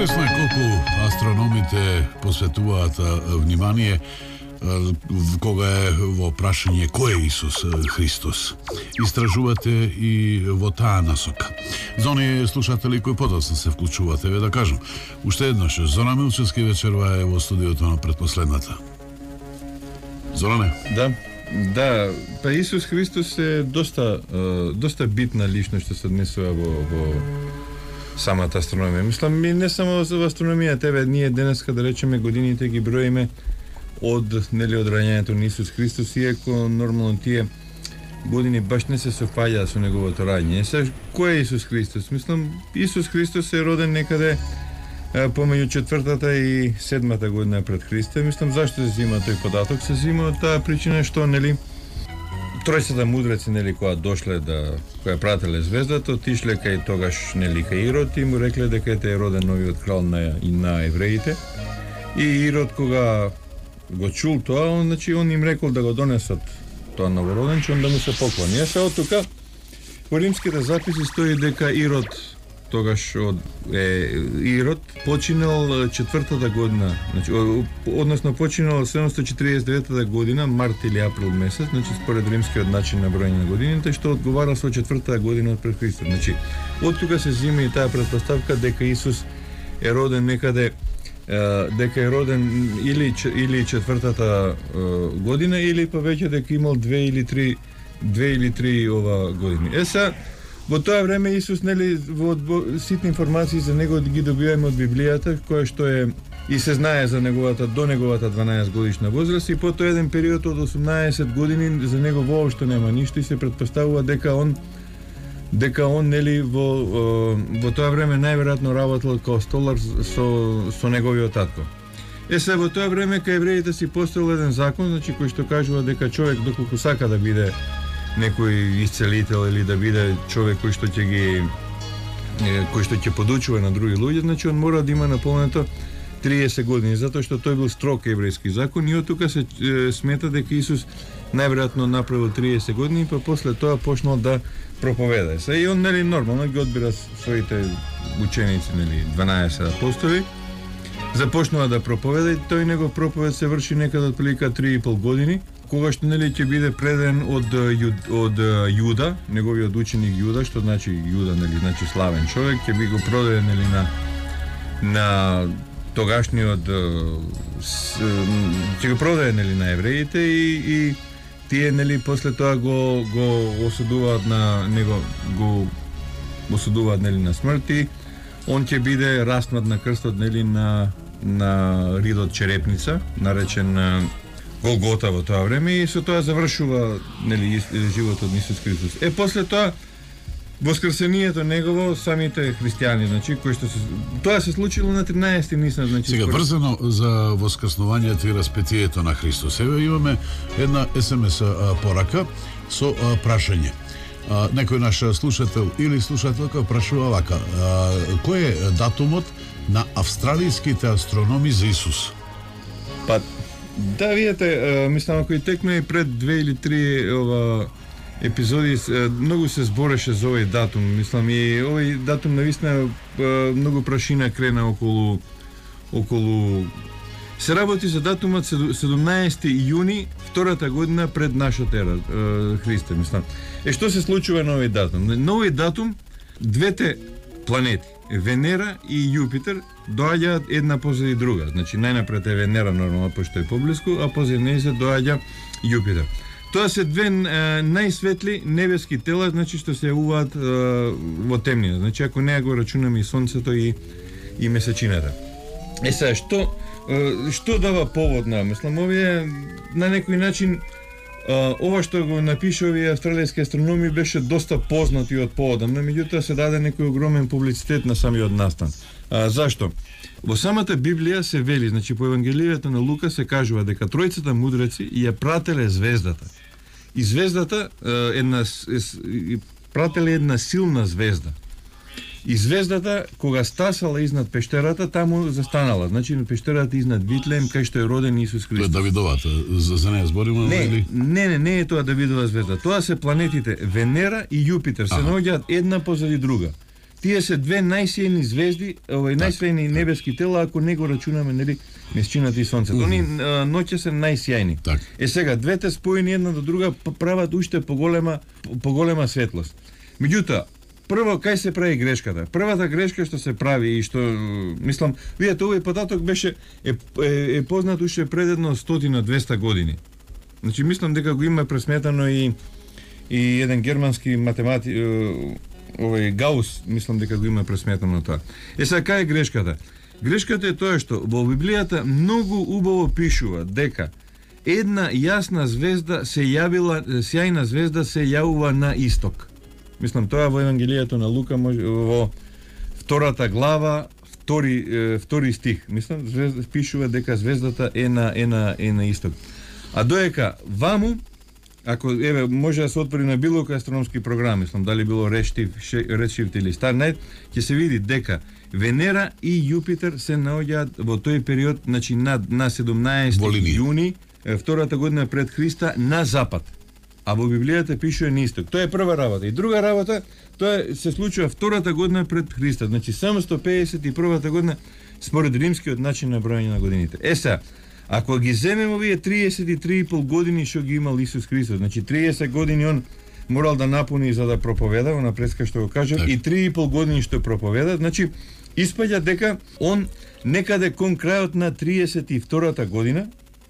Интересно е колку астрономите посветуваат внимание кога е во прашање кој е Исус Христос. Истражувате и во таа насока. За оние слушатели кои подоцна се вклучувате, да кажам, уште еднаш, Зоран Милчевски вечерва е во студиото на предпоследната. Зоране? Да, па Исус Христос е доста битна личност што се однесува во самата астрономија. Мислам, не само во астрономија, ние денеска, да речеме, годините ги броиме од раѓањето на Исус Христос, иако нормално тие години баш не се совпаѓаат со неговото раѓање. Кој е Исус Христос? Мислам, Исус Христос е роден некаде помеѓу 4-та и 7-та година пред Христа. Мислам, зашто се зима тој податок? Се зима од таа причина што, тројцата мудреци, која дошле која прателе звездата, отишле кај тогаш, кај Ирод и му рекле дека е роден новиот крал на евреите. И Ирод, кога го чул тоа, он им рекол да го донесат тоа новороденче, да му се поклони. Од тука, во римските записи стои дека Ирод, тогаш Ирод, починал 4-та година, односно починал 749 година, март или април месец, според римскиот начин на бројање на годините, што одговара со 4-та година пред Христа. Од тука се зима и таа претпоставка дека Исус е роден некаде, дека е роден или 4-та година, или повеќе дека имал 2 или 3 години. Во тоа време Исус, во ситни информации за него ги добиваме од Библијата, која што е и се знае за до неговата 12 годишна возраст, и по тоа еден период од 18 години за него воопшто нема ништо и се претпоставува дека он во тоа време најверојатно работел како столар со неговиот татко. Во тоа време кај евреите си постоел еден закон, кој што кажува дека човек доколку сака да биде некој исцелител или да биде човек кој што ќе подучува на други луѓе, он мора да има наполнето 30 години, затоа што тој бил строг еврејски закон и од тука се смета дека Исус најверојатно направил 30 години, па после тоа почнал да проповеда. И он, нормално ги одбира своите ученици, 12 апостоли, започнува да проповеда и тој негов проповед се врши некаде отприлика 3,5 години, кога што ќе биде преден од Јуда, неговиот ученик Јуда, што значи Јуда, значи славен човек, ќе би го продаден на тогашниот ќе го продаде на евреите и тие после тоа го осудуваат на него, го осудуваат на смрт и он ќе биде распнат на крстот на ридот Черепница, наречен Голгота во тоа време, и со тоа завршува животот на Исус Христос. После тоа воскресението негово, самите христијани, кои што тоа се случило на 13 Нисан, Сега врзано за воскреснувањето и распетието на Христос. Имаме една SMS порака со прашање. Некој наш слушател или слушателка прашува вака: кој е датумот на австралиските астрономи за Исус? Да, видите, мислам, ако и текме и пред 2 или 3 епизоди, многу се збореше за овој датум. Мислам, и овој датум навистина многу прашина крена околу се работи за датумот 17 јуни, втората година пред нашата ера, Христа, мислам. Што се случува на овој датум? На овој датум двете планети, Венера и Јупитер, доаѓаат една позади друга. Најнапред е Венера, нормално, пошто е поблиску, а позади неја се доаѓа Јупитер. Тоа се две најсветли небески тела, што се јавуваат во темнина. Ако неја го рачунаме и Сонцето и Месечината. Што дава повод на? Мислам, овие на некој начин ова што го напише овие австралијски астрономи беше доста познати од повода, но меѓутоа се даде некој огромен публицитет на самиот настан. Зашто? Во самата Библија се вели, по Евангелијата на Лука се кажува дека тројцата мудреци ја прателе звездата. И звездата прателе една силна звезда. И звездата, кога стасала изнад пештерата, таму застанала. На пештерата изнад Витлеем, кај што е роден Исус Христос. Тоа е Давидовата, за неја збориме? Не е тоа Давидова звезда. Тоа се планетите Венера и Јупитер, се наоѓаат една позади друга. тие се две најсилни звезди, најсилни небески тела, ако не го рачунаме, нели, месечината и сонцето. Они ноќе се најсјајни. Сега двете споени една до друга прават уште поголема светлост. Меѓутоа, прво кај се прави грешката? Првата грешка што се прави и што мислам, видете, овој податок беше е познат уште пред едно 100-200 години. Значи мислам дека го има пресметано и еден германски математик, Гаус, мислам дека го има пресметано тоа. Сега кај е грешката? Грешката е тоа што во Библијата многу убаво пишува дека една јасна звезда се јавила, сјајна звезда се јавува на исток. Мислам тоа во Евангелието на Лука во втората глава, втори стих. Мислам пишува дека звездата е на исток. А доека ваму, ако може да се отвори на било кој астрономски програм, мислам дали било Redshift или Starnight, ќе се види дека Венера и Јупитер се наоѓаат во тој период, значи на 17 јуни втората година пред Христа на запад. А во Библијата пишува на исток. Тоа е прва работа. И друга работа, тоа се случува втората година пред Христа, значи 751 година според римскиот начин на броење на годините. Сега, ако ги земеме овие 33,5 години што ги имал Исус Христос, значи 30 години он морал да напуни за да проповеда, она преска што го кажа, и 3,5 години што проповеда, значи испаѓа дека он некаде кон крајот на 32-та година,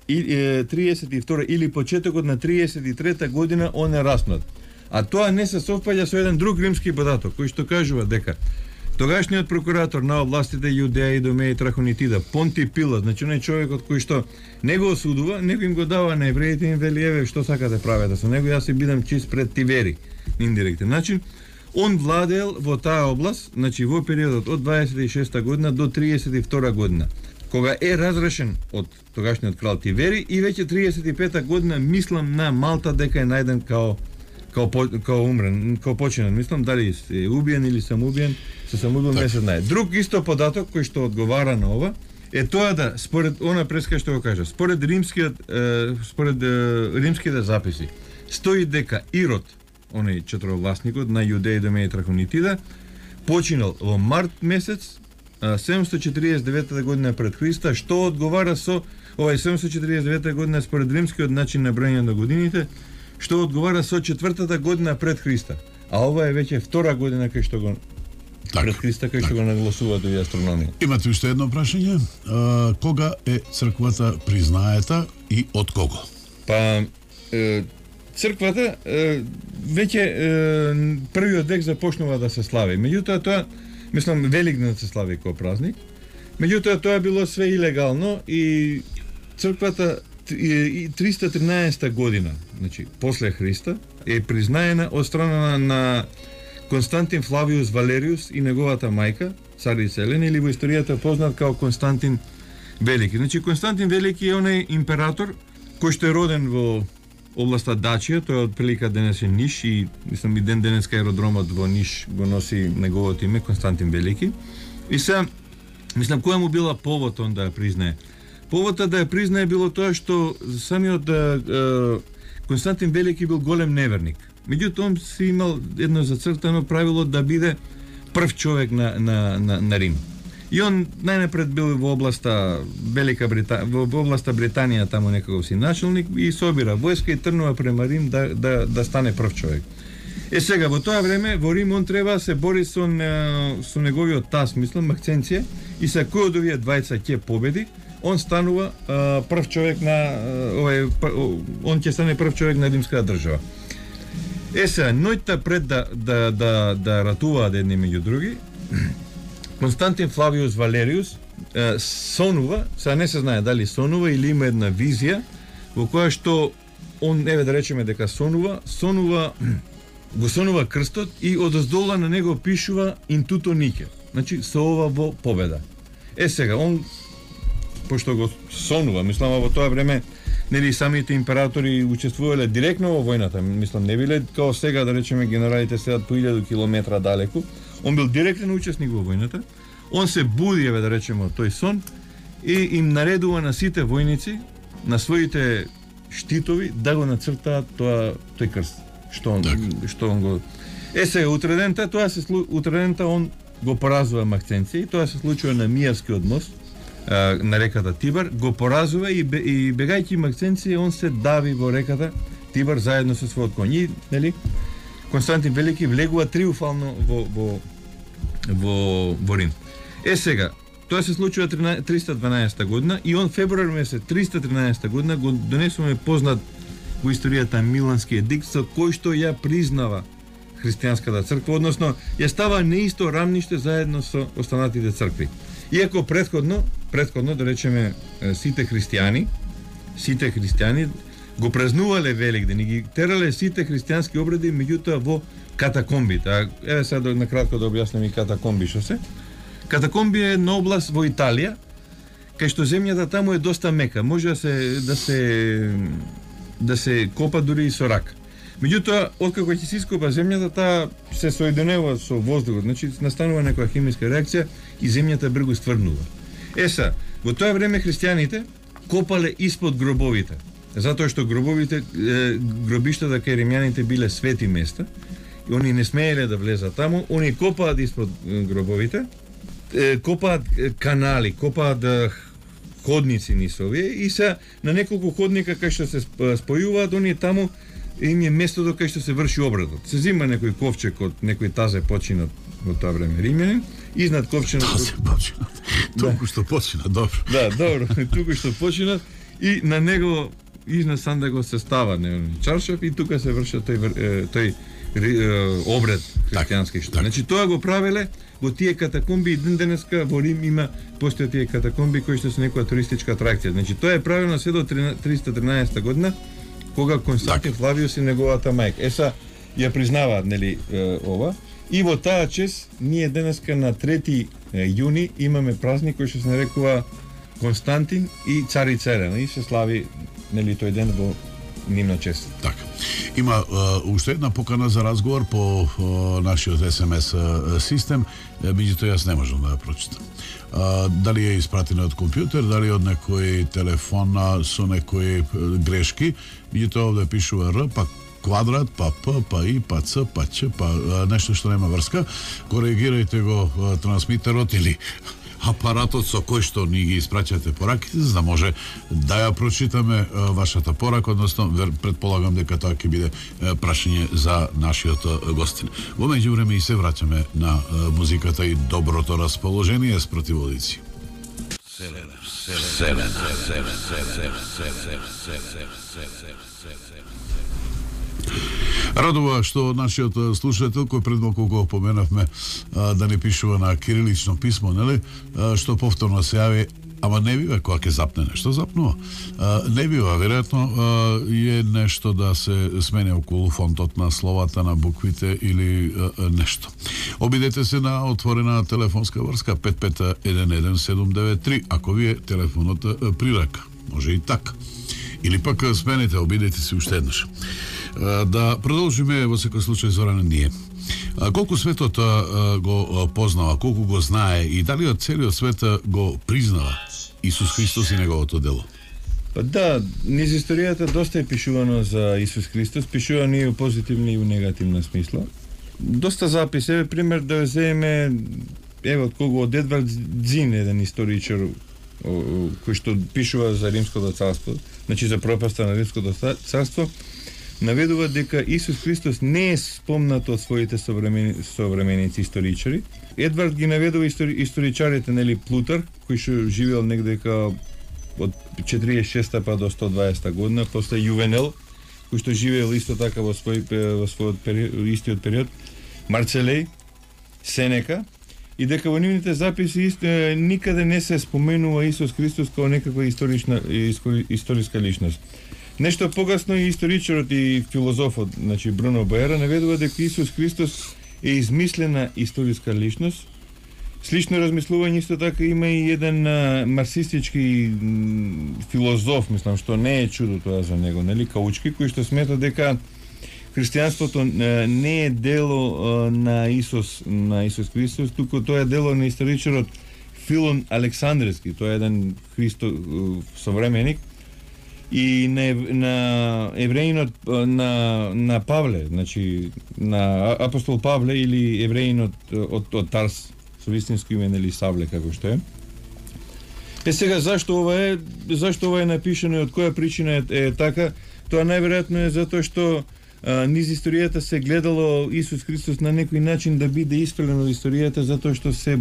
32 или почетокот на 33-та година он е раснат. А тоа не се совпаѓа со еден друг римски податок, кој што кажува дека тогашниот прокуратор на областите Јудеја, Идомеја и Трахонитида, Понти Пилат, значи оној човекот кој што не го осудува, него им го дава на евреите, им вели, еве, што сакате правете со него, јас си бидам чист пред Тивери, на индиректен начин. Он владеел во таа област, значи во периодот од 26 година до 32 година, кога е разрешен од тогашниот крал Тивери и веќе 35 година мислам на Малта дека е најден као умрен, као починен. Мислам дали е убиен или самоубиен, се самоубил не се знае. Друг исто податок кој што одговара на ова е тоа да според она преска што го кажа, според римските записи стои дека Ирод, оној четировласникот на Јудеја, Идомеја и Трахонитида, починал во март месец 749 година пред Христа, што одговара со 749 година според римскиот начин на броење на годините, што одговара со 4-та година пред Христа. А ова е веќе втора година кај што го пред Христа, кај што го нагласуваат овие астрономија. Имате уште едно прашање? Кога е црквата признаета и од кого? Па црквата веќе првиот век започнува да се слави. Меѓутоа тоа, мислам, Великден се слави како празник. Меѓутоа тоа било све илегално и црквата 313 година, значи после Христа, е признаена од страна на Константин Флавиус Валериус и неговата мајка, царица Елена, или во историјата познат како Константин Велики. Значи Константин Велики е оној император кој што е роден во областа Дачија, тој од прилика денес е Ниш и мислам и денеска аеродромот во Ниш го носи неговото име, Константин Велики. И се, мислам, која му била повод он да ја признае? Поводот да ја признае било тоа што самиот Константин Велики бил голем неверник. Меѓутоа он си имал едно зацртано правило да биде прв човек на Рим. И он најнапред бил во областа во областа Британија, таму некако си началник и собира војска и трнува према Рим да стане прв човек. Сега во тоа време во Рим он треба се бори со неговиот таз, мислам, Максенција, и се кој од овие двајца ќе победи, он станува прв човек он ќе стане прв човек на римската држава. Сега, ноќта пред да ратуваат едни меѓу други, Константин Флавиус Валериус сонува, сега не се знае дали сонува или има една визија во која што он, еве да речеме дека го сонува крстот и одоздола на него пишува Интуто Нике. Значи со ова во победа. Сега, он пошто го сонува, мислам во тоа време нели самите императори учествувале директно во војната, мислам не биле као сега да речеме генералите седат по 1000 километра далеку. Он бил директен учесник во војната. Он се буди, еве да речеме, тој сон и им наредува на сите војници на своите штитови да го нацртаат тој крст. Што он го Сега утредента утредента он го поразува Максенци и тоа се случува на Мијавскиот мост на реката Тибар, го поразува и бегајќи Максенци он се дави во реката Тибар заедно со својот коњ. И, нели, Константин Велики влегува триумфално во Рим. Сега, тоа се случува 312 година и он февруар месец 313 година го донесуваме познат во историјата Милански едикт со кој што ја признава христијанската црква, односно ја става на исто рамниште заедно со останатите цркви. Иако предходно да речеме сите христијани го празнувале Великден и ги терале сите христијански обреди, меѓутоа во катакомбите. Еве сега на кратко да објаснам и катакомби што се. Катакомби е една област во Италија, кај што земјата таму е доста мека, може да се копа дури и со рак. Меѓутоа, откако ќе се ископа земјата, таа се соединува со воздухот, значи настанува некоја химиска реакција и земјата бргу стврнува. Во тоа време христијаните копале испод гробовите, затоа што гробиштата кај римјаните биле свети места и они не смееле да влезат таму, они копаат испод гробовите, копаат канали, копаат ходници низ овие и се на неколку ходника кај што се спојуваат, они таму им е местото кај што се врши обредот. Се зима некој ковчег од некој тазе починат во тоа време римјанин, изнад ковчегот тазе починат. Туку што починат, добро. Да, добро, туку што починат и на него изнад сандагот се става чаршаф и тука се врши тој обред христијански што. Значи тоа го правеле во тие катакомби и ден денеска во Рим постојат тие катакомби кои што се некоја туристичка атракција. Значи тоа е правено се до 313 година кога Константин Флавиус и неговата мајка. Ја признаваат, нели, ова. И во таа чест ние денеска на 3 јуни имаме празник кој што се нарекува Константин и царица Елена и се слави, нели, тој ден во нивна чест. Така. Има уште една покана за разговор по нашиот СМС систем, меѓутоа јас не можам да ја прочитам. Дали е испратена од компјутер, дали од некој телефон со некои грешки, меѓутоа овде пишува Р, па квадрат, па П, па И, па Ц, па Ч, па нешто што нема врска. Коригирајте го трансмитерот или апаратот со кој што ни ги испраќате пораките, за да може да ја прочитаме вашата порака, односно предполагам дека тоа ќе биде прашање за нашиот гостин. Во меѓувреме и се враќаме на музиката и доброто расположение с противодици. Радува што нашиот слушател, кој пред малку го поменавме да не пишува на кирилично писмо, нели, што повторно се јави, ама не бива кога ќе запне нешто, запнува. Не бива, веројатно е нешто да се смене околу фонтот на словата, на буквите или нешто. Обидете се на отворена телефонска врска 55-11793, ако ви е телефонот при рака. Може и така. Или пак сменете, обидете се уште еднаш. Да продолжиме во секој случај Зоране ние. Колку светот го познава, колку го знае и дали од целиот свет го признава Исус Христос и неговото дело? Па да, низ историјата доста е пишувано за Исус Христос, пишувано и у позитивна и у негативна смисла. Доста записи, пример да земеме од кого од Едвард Дзин, еден историчар кој што пишува за Римското царство, значи за пропаста на Римското царство, наведува дека Исус Христос не е спомнат од своите современици историчари. Едвард ги наведува историчарите, нели, Плутар, кој што живеел негдека од 46 па до 120 година, после Јувенел, кој што живеел исто така во својот истиот период, Марцелеј, Сенека, и дека во нивните записи никаде не се споменува Исус Христос како некаква историска личност. Нешто погасно и историчарот и филозофот, значи Бруно Боера, наведува дека Исус Христос е измислена историска личност. Слично размислување исто така има и еден марксистички филозоф, мислам, што не е чудо тоа за него, нели, Каучки, кој што смета дека христијанството не е дело на Исус Христос, туку тоа е дело на историчарот Филон Александревски, тоа е еден современик, и на евреинот на Павле, значи на апостол Павле или евреинот од Тарс, со вистинско име нели Савле како што е. Сега зашто ова е напишано и од која причина е така? Тоа најверојатно е затоа што низ историјата се гледало Исус Христос на некој начин да биде испрелен од историјата, затоа што се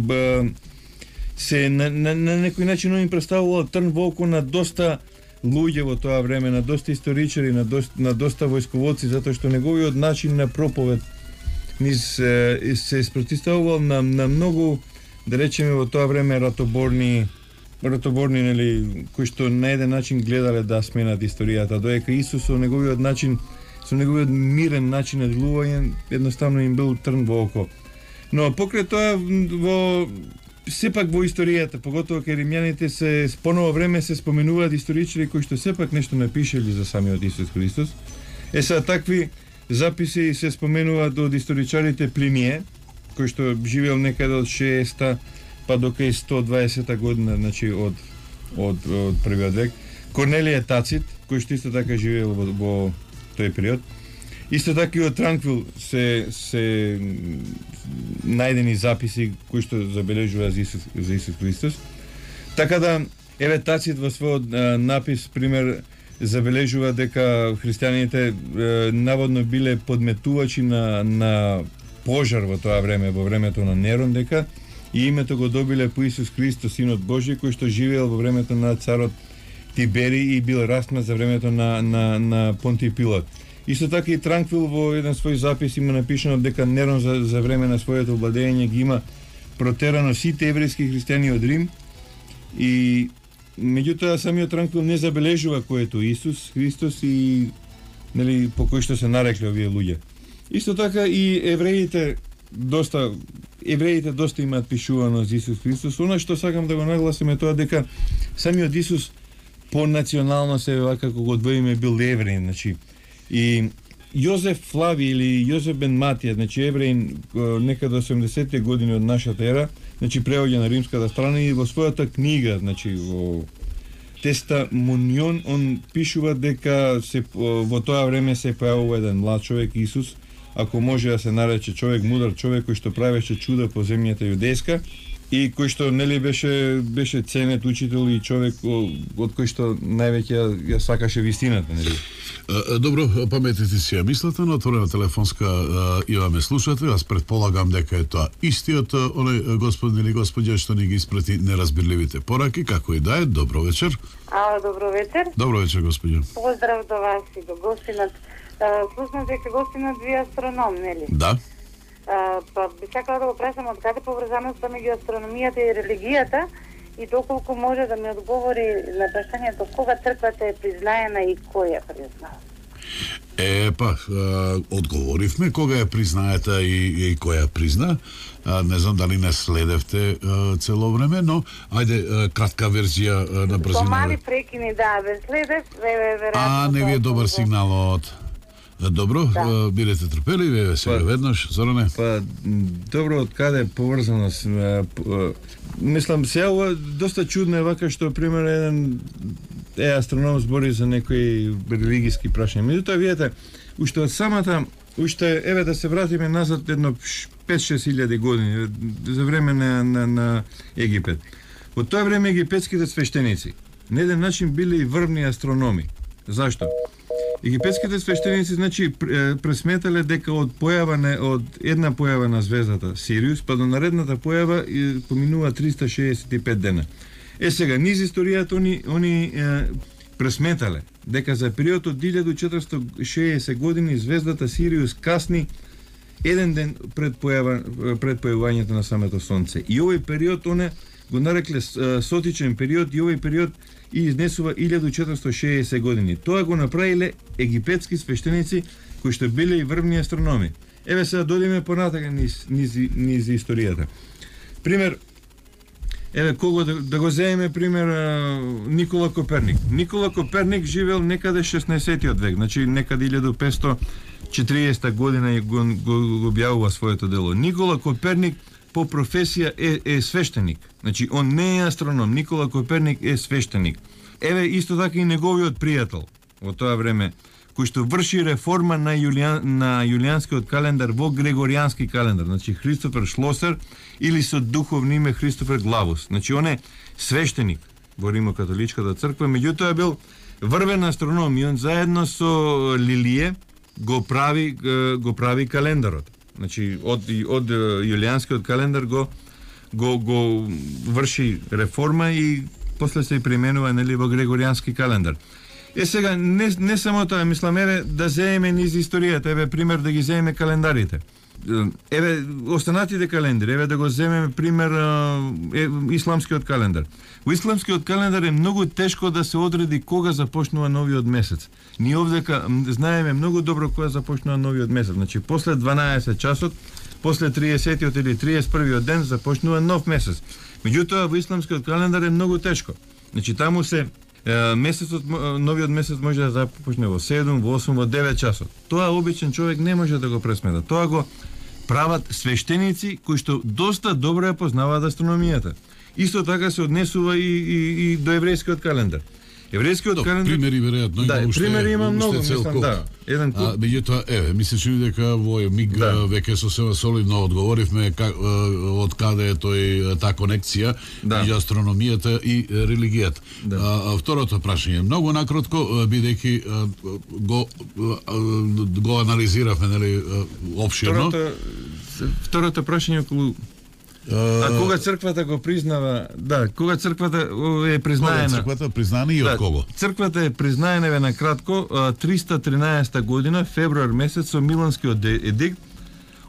на некој начин им представувало трн во око на доста луѓе во тоа време, на доста историчари, на доста војсковоци, затоа што неговиот начин на проповед се спротивставувал на многу, да речеме во тоа време ратоборни нели, кои што на еден начин гледале да сменат историјата, доека Исус со неговиот мирен начин на делување едноставно им бил трн во око. Но покрај тоа сепак во историјата, поготово кај римјаните се поново време се споменуваат историчари кои што сепак нешто напишале за самиот Исус Христос. Сега такви записи се споменуваат од историчарите Плиние, кој што живеел некаде од 60-та па до кај 120-та година, значи од првиот век. Корнелије Тацит, кој што исто така живеел во тој период. Исто така и од Транквил се најдени записи кои што забележуваат за Исус Христос. Така да, еве Тацит во својот напис, пример, забележува дека христијаните наводно биле подметувачи на пожар во тоа време, во времето на Нерон, дека и името го добиле по Исус Христос, Синот Божи, кој што живеел во времето на царот Тибери и бил распнат за времето на Понтиј Пилат. Исто така и Транквил во еден свој запис има напишано дека Нерон за време на своето владење ги има протерано сите еврејски христијани од Рим, и меѓутоа самиот Транквил не забележува кој е тоа Исус Христос и нели по кој што се нарекле овие луѓе. Исто така и евреите доста имаат пишувано за Исус Христос. Она што сакам да го нагласим е тоа дека самиот Исус по национално се како го одвоиме бил евреин, значи и Јозеф Флави или Јозеф бен Матија, значи евреин некаде 80-те години од нашата ера, значи преоѓа на римската страна и во својата книга, значи во Тестамонион, он пишува дека во тоа време се појавува еден млад човек Исус, ако може да се нарече човек, мудар човек кој што правеше чуда по земјата јудејска и кој што нели беше ценет учител и човек од кој што највеќе ја сакаше вистината, нели. Добро, паметите си ја мислата, на отворена телефонска имаме слушател. Аз предполагам дека е тоа истиот оној господин или господја што ни ги испрати неразбирливите пораки, како и да е. Добро вечер. Добро вечер. Добро вечер, господја. Поздрав до вас и до гостинот. Слушнав дека гостинот ви астроном, нели? Да. Па би сакала да го прашам од каде поврзаноста меѓу астрономијата и религијата и доколку може да ми одговори на прашањето кога црквата е признаена и кој ја признава? Одговоривме кога ја признаета и кој ја призна. Не знам дали не следевте цело време, но ајде кратка верзија на брзина. Со мали прекини, да, ве следев, веројатно. Не ви е добар сигналот. Добро, да. Бидете трпеливи, сега веднаш, Зоране. Добро, од каде поврзаност? Мислам, сега доста чудно е вака што, пример, еден астроном збори за некои религиски прашања. Меѓутоа, видете, уште од самата, еве да се вратиме назад едно 5-6 илјади години, за време на Египет. Во тоа време египетските свештеници на еден начин биле и врвни астрономи. Зашто? Египетските свештеници, значи, пресметале дека од една појава на звездата Сириус, па до наредната појава поминува 365 дена. Сега, низ историјата они пресметале дека за период од 1460 години звездата Сириус касни еден ден пред појавањето на самото Сонце. И овој период го нарекле сотичен период и овој период и изнесува 1460 години. Тоа го направиле египетски свештеници кои што биле и врвни астрономи. Еве сега дојдеме понатака низ историјата. Пример, еве кого да го земеме пример Никола Коперник. Никола Коперник живеел некаде 16-тиот век, значи некаде 1540 година и го објавува своето дело. Никола Коперник по професија е свештеник. Значи, он не е астроном. Никола Коперник е свештеник. еве исто така и неговиот пријател во тоа време, кој што врши реформа на јулијанскиот календар во грегоријански календар, значи Христофер Шлосер или со духовно име Христофер Главус. Значи он е свештеник во Римокатоличката црква, меѓутоа бил врвен астроном и он заедно со Лилие го прави календарот. Значи од јулијанскиот календар го врши реформа и после се применува нели во грегоријански календар. Сега не само тоа, мислам, еве да земеме низ историјата, еве пример да ги земеме календарите. Еве останатите календари, еве да го земеме пример исламскиот календар. Во исламскиот календар е многу тешко да се одреди кога започнува новиот месец. Ние овдека знаеме многу добро кога започнува новиот месец. Значи после 12 часот, после 30-тиот или 31-иот ден започнува нов месец. Меѓутоа во исламскиот календар е многу тешко. Значи таму се новиот месец може да започне во 7, во 8, во 9 часот. Тоа обичен човек не може да го пресмета. Тоа го прават свештеници кои што доста добро ја познаваат астрономијата. Исто така се однесува и до еврејскиот календар. Еврејскиот календар... Примери веројатно има уште. Примери има многу, мислам, да. Еден куп. Меѓутоа, ми се чини дека во миг веќе сосема солидно одговоривме од каде е таа конекција меѓу астрономијата и религијата. Второто прашање, многу накратко, бидејќи го анализиравме, нели, опширно. Второто прашање околу кога црквата го признава, кога црквата е признаена. Кога црквата признаена и од кого? Црквата е признаена ве на кратко 313 година, февруар месец, со Миланскиот едикт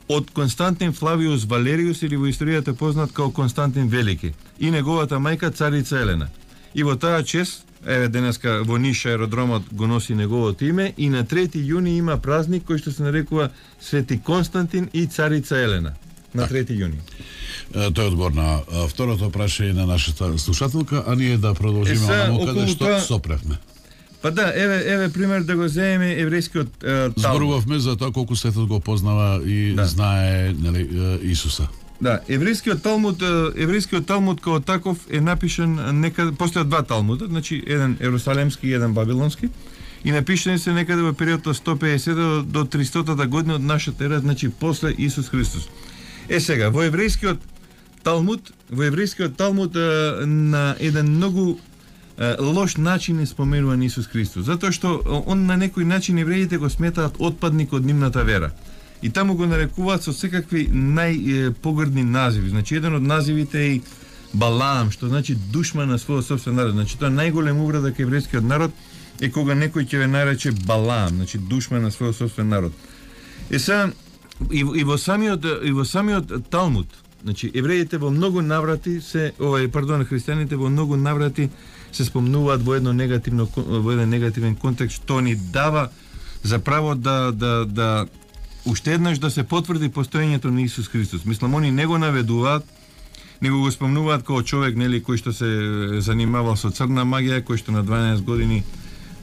од Константин Флавиус Валериус, или во историјата познат како Константин Велики, и неговата мајка царица Елена. И во таа чест, еве денеска во Ниш аеродромот го носи неговото име, и на 3 јуни има празник кој што се нарекува Свети Константин и царица Елена. На 3 јуни. Тој е одговор на второто прашање на нашата слушателка, а ние да продолжиме онаму каде што сопревме. Па еве пример да го земеме еврејскиот Талмуд. Зборувавме за тоа колку светот го познава и знае, нели, Исуса. Еврејскиот Талмуд како таков е напишан некаде, постојат два Талмуда, значи еден ерусалемски и еден вавилонски, и напишани се некаде во период од 150 до 300 година од нашата ера, значи после Исус Христос. Сега, во еврејскиот Талмуд на еден многу лош начин е споменуван Исус Христос, затоа што он на некој начин евреите го сметаат отпадник од нивната вера. И таму го нарекуваат со секакви најпогрдни називи. Значи еден од називите е Балаам, што значи душман на својот собствен народ. Значи тоа најголем увреда кај еврејскиот народ е кога некој ќе ве нарече Балаам, значи душман на својот собствен народ. Сега и во самиот Талмуд, значи евреите во многу наврати христијаните во многу наврати се спомнуваат во еден негативен контекст, што ни дава за право да уште еднаш да се потврди постоењето на Исус Христос. Мислам, они не го наведуваат, него го спомнуваат како човек, нели, кој што се занимавал со црна магија, кој што на 12 години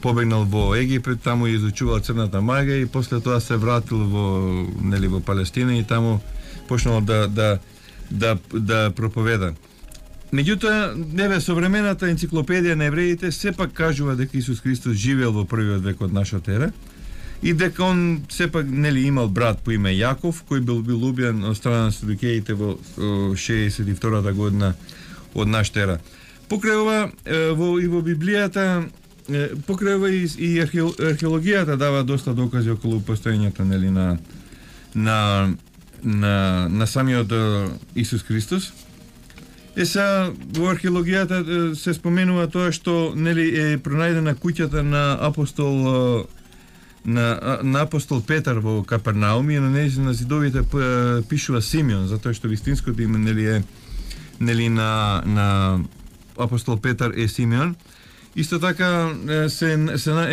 побегнал во Египет, таму изучувал црната магија и после тоа се вратил во Палестина и таму почнал да проповеда. Меѓутоа, современата енциклопедија на евреите сепак кажува дека Исус Христос живеел во првиот век од нашата ера и дека он сепак имал брат по име Јаков, кој бил убиен од страна на Садукеите во 62 година од нашата ера. Покрај ова во Библијата, покрај ова и археологијата дава доста докази околу постоењето на самиот Исус Христос. Во археологијата се споменува тоа што е пронајдена куќата на апостол Петар во Капернаум и на зидовите пишува Симеон, затоа што вистинското име на апостол Петар е Симеон. Исто така е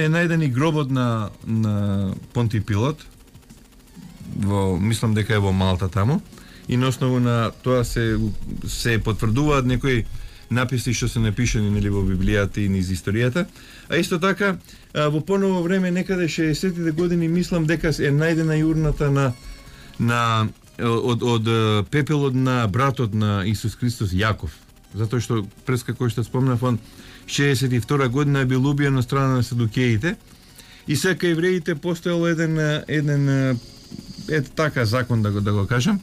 најден и гробот на Понтиј Пилот, мислам дека е во Малта таму, и на основу на тоа се потврдуваат некои написи што се напишани во Библијата и низ историјата. А исто така во поново време, некаде 60-тите години, мислам дека е најдена и урната од пепелот на братот на Исус Христос, Јаков. затоа што пред како што спомнав, он 62 година бил убиен од страна на садукеите и сега евреите постоел еден така закон да го кажам,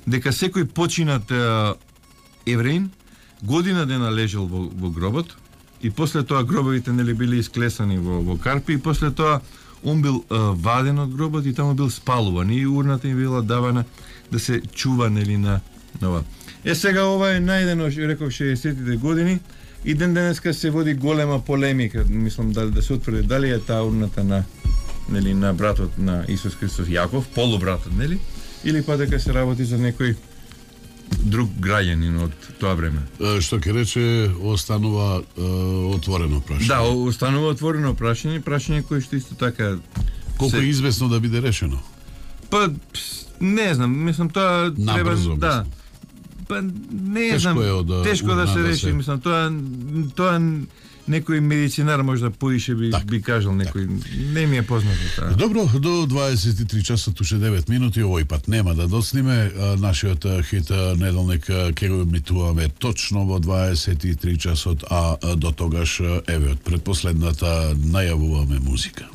дека секој починат евреин година дена лежал во гробот и после тоа гробовите нели били исклесани во карпи и после тоа он бил ваден од гробот и таму бил спалуван и урната им била давана да се чува нели на ова. Сега ова е најдено, реков 60-тите години и ден денеска се води голема полемика, мислам да се утврди дали е таа урната на братот на Исус Христос Јаков, полубратот, нели? Или па дека се работи за некој друг граѓанин од тоа време. Што ќе рече, останува отворено прашање. Да, останува отворено прашање кое што исто така колку е известно да биде решено. Па не знам, мислам тоа треба да. Па не знам, тешко да се реши, мислам тоа некој медицинар можда поише би кажал некој, не ми е познато тоа. Добро, до 23 часот уште 9 минути, овој пат нема да доцниме. Нашиот хит неделник ќе го емитуваме точно во 23 часот, а до тогаш еве од предпоследната најавуваме музика.